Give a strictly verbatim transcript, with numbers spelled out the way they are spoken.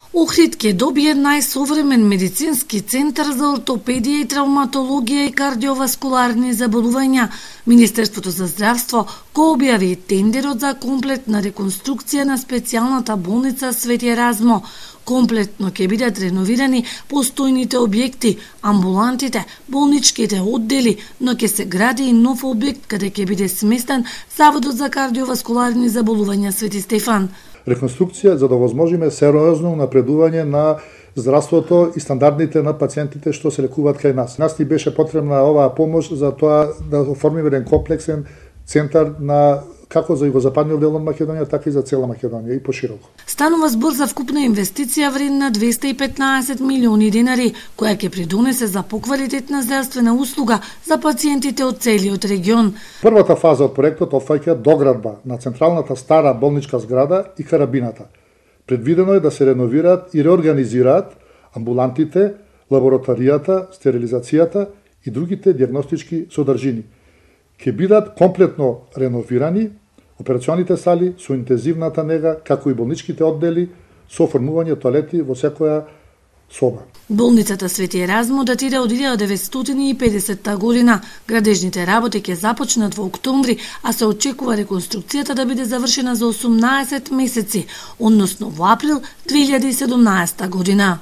Охрид ќе добие најсовремен медицински центар за ортопедија и травматологија и кардиоваскуларни заболувања. Министерството за здравство го објави тендерот за комплетна реконструкција на специјалната болница Свети Еразмо. Комплетно ќе бидат реновирани постојните објекти, амбулантите, болничките оддели, но ќе се гради и нов објект каде ќе биде сместен Заводот за кардиоваскуларни заболувања Свети Стефан. Реконструкција за да возможиме сериозно напредување на здравството и стандардите на пациентите што се лекуваат кај нас. Нас ни беше потребна оваа помош за тоа да оформиме еден комплексен центар на како за југозападниот дел од Македонија, така и за цела Македонија и пошироко. Станува збор за вкупна инвестиција вредна двесте и петнаесет милиони денари, која ќе придонесе за поквалитетна здравствена услуга за пациентите од целиот регион. Првата фаза од проектот опфаќа доградба на централната стара болничка зграда и карабината. Предвидено е да се реновираат и реорганизираат амбулантите, лабораторијата, стерилизацијата и другите дијагностички содржини. Ќе бидат комплетно реновирани операционите сали со интензивната нега, како и болничките оддели со оформување тоалети во секоја соба. Болницата Свети Еразмо датира од илјада деветстотини и педесетта година. Градежните работи ќе започнат во октомври, а се очекува реконструкцијата да биде завршена за осумнаесет месеци, односно во април две илјади и седумнаесетта година.